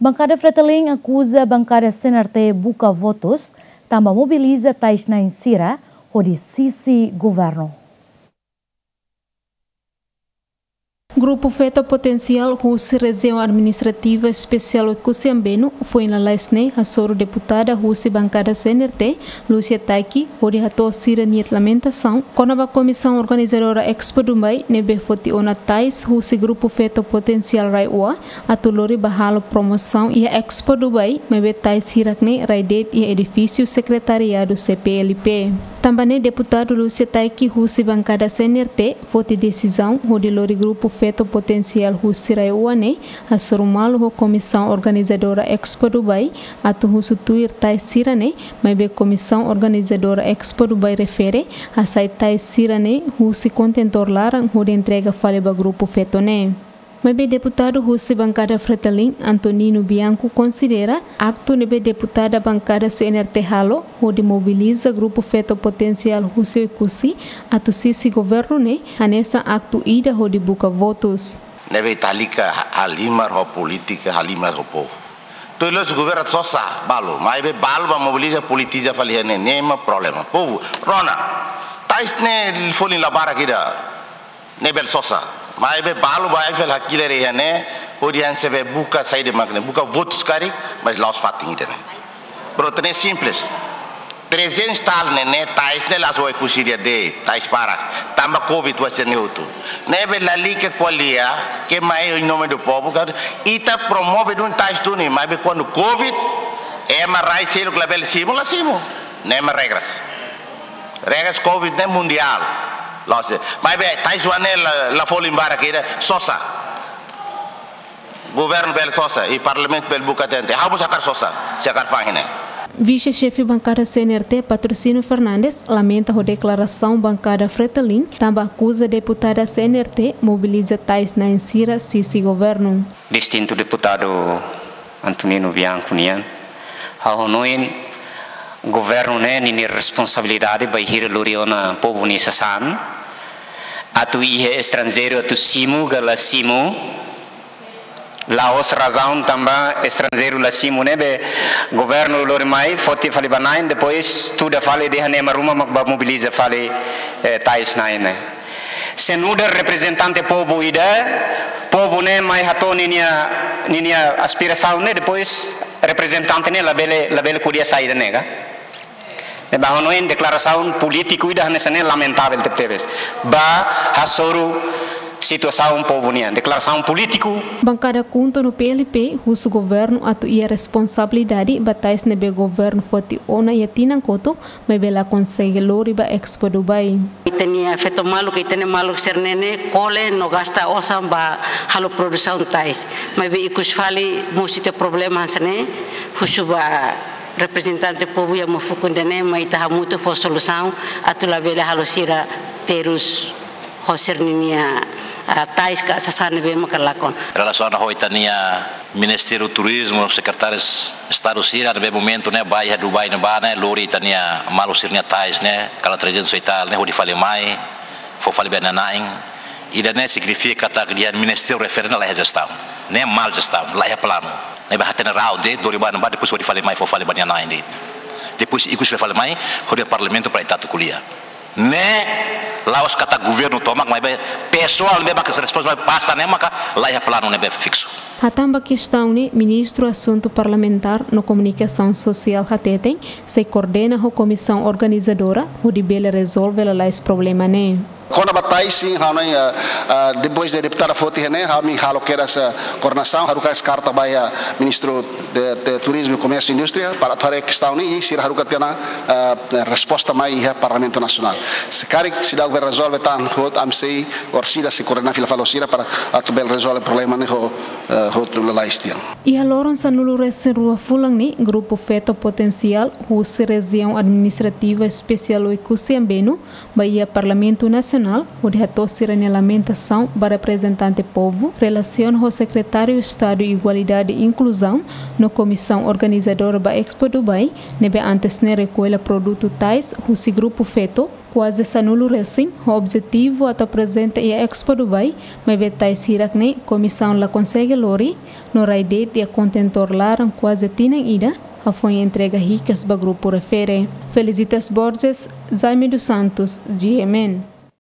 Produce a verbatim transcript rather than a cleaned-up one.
Bankada Fretilin akuza bankada C N R T buka votus, tanba mobiliza tais-na'in sira hodi sisi governu. Grupu Feto Potensiál husi Rejiaun Administrativa Espesiál Oekusi Ambenu, foin lalais ne'e hasoru deputada husi bankada C N R T, Lúcia Taiki, hodi hato'o sira-nia lamentasaun kona-ba komisaun organizadora Expo Dubai ne'ebé foti ona tais husi Grupu Feto Potensiál RAEOA atu lori ba halo promosaun iha Expo Dubai, maibé tais hirak-ne'e rai de'it iha edifísiu sekretariadu C P L P. Tanba ne'e deputadu Lúcia Taiki husi bankada C N R T foti desizaun hodi lori Grupu Feto Potensiál husi RAEOA ne'e hasoru malu ho komisaun organizadora Expo Dubai atu husu tuir tais sira-ne'e, maibé komisaun organizadora Expo Dubai refere hasai tais sira-ne'e husi kontentór laran hodi entrega fali ba grupu feto ne'e. Maibé deputadu husi bankada Fretilin, Antonino Bianco, konsidera aktu ne'ebé deputada bankada C N R T halo hodi mobiliza Grupu Feto Potensiál husi Oekusi atu sisi governu ne'e hanesan aktu ida hodi buka votus. Ne'ebé ita halika halimar ho polítika, halimar ho povu. Tuir loos governu sosa balu, maibé balu ba mobiliza, politiza fali iha ne'e, ne'e mak problema. Povu rona, tais ne'e folin la barak ida, ne'e bele sosa. Maibé balu ba ai fali hakilar iha ne'e, hodi hanesan be buka saida mak ne'e, buka votus karik, mas la'ós fatin ida-ne'e. Prontu, ne'e simples. Trezentus tal ne'e, ne'e tais ne'e la'ós Oekusi de'it, tais barak. Tanba covid wa sene hotu. Ne'ebé lalika ko'alia, ke mai em nome do povo, ka, ita promove duni tais duni, maibé kuandu covid, ema rai seluk labele simu, la simu. Ne'e mak regras. Regras covid ne'e mundiál. La'ós, maibé tais wa ne'e la, la folin barak ida, sosa. Governu bele sosa, i parlamentu bele buka tente. Ha'u mós hakarak sosa, se hakarak fa'an iha ne'e. Vise-xefe bankada C N R T, Patrocínio Fernandes, lamenta ho deklarasaun bankada Fretilin, tanba akuza deputada C N R T mobiliza tais-na'in sira sisi governu. Distintu deputadu Antonino Bianco nian, ha'u hanoin governu ne'e ninia responsabilidade bainhira lori ona povu nia sasán, atu iha estranjeiru atu simu ka la simu, la'ós razaun tanba estranjeiru la simu ne'ebé governu lori mai, foti fali ba na'in, depois tuda fali dehan ema ruma mak ba mobiliza fali, eh, tais-na'in ne'e. Se nu'udar reprezentante povu ida, povu ne'e mai hato'o ninia, ninia aspirasaun ne'e, depois reprezentante ne'e labele, labele ko'alia saida ne'e ka. Ne'ebé ha'u hanoin deklarasaun polítiku ida hanesan ne'e lamentavel tebetebes. Ba hasoru situasaun povu nian, deklarasaun polítiku. Bankada KHUNTO no P L P husu governu atu iha responsabilidade ba tais ne'ebé governu foti ona iha tinan kotuk, maibé la konsege lori ba Expo Dubai. Ita-nia feto maluk, ita-nia maluk sira-ne'e ne'e kole no gasta osan ba halo produsaun tais. Maibé ikus fali mosu ita problema hanesan ne'e, husu ba reprezentante povu iha Mufukun ida-ne'e, mai ita hamutuk fó solusaun atu labele halo sira terus ho sira-ninia, ah, tais ka sasán ne'ebé maka lakon. Relasiona ho ita-nia Ministériu Turizmu, Sekretáriu Estadu sira ne'ebé momentu ne'e ba iha Dubai ne'ebá ne'e, lori ita-nia maluk sira-nia tais ne'e, kala trezentus e tal ne'e, hodi fali mai, fó fali ba nia na'in. Ida-ne'e signifika katak dehan ministériu refere ne'e la iha jestaun. Ne'e mal jestaun, la iha planu. Ne'ebé hatene rau de'it, lori ba ne'ebá, depois hodi fali mai, fó fali ba nia na'in de'it. Depois ikus fali mai, hodi iha parlamentu para ita atu ko'alia. Ne'e la'ós katak governu tomak, maibé pesoál ne'ebé maka responsavel pasta ne'e maka la iha planu ne'ebé fiksu. Hatán ba kestaun ne'e, Ministru Asuntu Parlamentár no Komunikasaun Sosiál hateten, sei koordena ho komisaun organizadora, hodi bele rezolve lalais problema ne'e. Kona-ba tais, sin, ha'u hanoin, ah, ah, depois de deputada foti iha ne'e, ha'u, ami halo kedas, ah, koordenasaun, haruka karta ba iha Ministru de, de Turizmu, Komérsiu i Indústria, para atu haree kestaun ne'e, i sira haruka tiha ona, ah, resposta mai iha Parlamentu Nasionál. Se karik seidauk bele rezolve tan hotu, ami sei, orsida sei koordena fila fali ho sira para atu bele rezolve problema ne'e ho, eh, hotu lalais tiha. Iha loron sanulu-resin-rua fulan ne'e, Grupu Feto Potensiál husi Rejiaun Administrativa Espesiál Oekusi Ambenu, ba iha Parlamentu Nasionál, hodi hato'o sira-nia lamentasaun ba reprezentante povu, relasiona ho Sekretáriu Estadu Igualdade i Inkluzaun, no komisaun organizadora ba Expo Dubai, ne'ebé antes ne'e rekolla produtu tais husi Grupu Feto, Kuaze sanulu resin ho objetivu atu aprezenta iha Expo Dubai, maibé tais hirak ne'e komisaun la konsege lori, no rai de'it iha kontentór laran kuaze tinan ida, hafoin entrega hikas ba grupu refere. Felicitas Borges, Jaime dos Santos, G M N.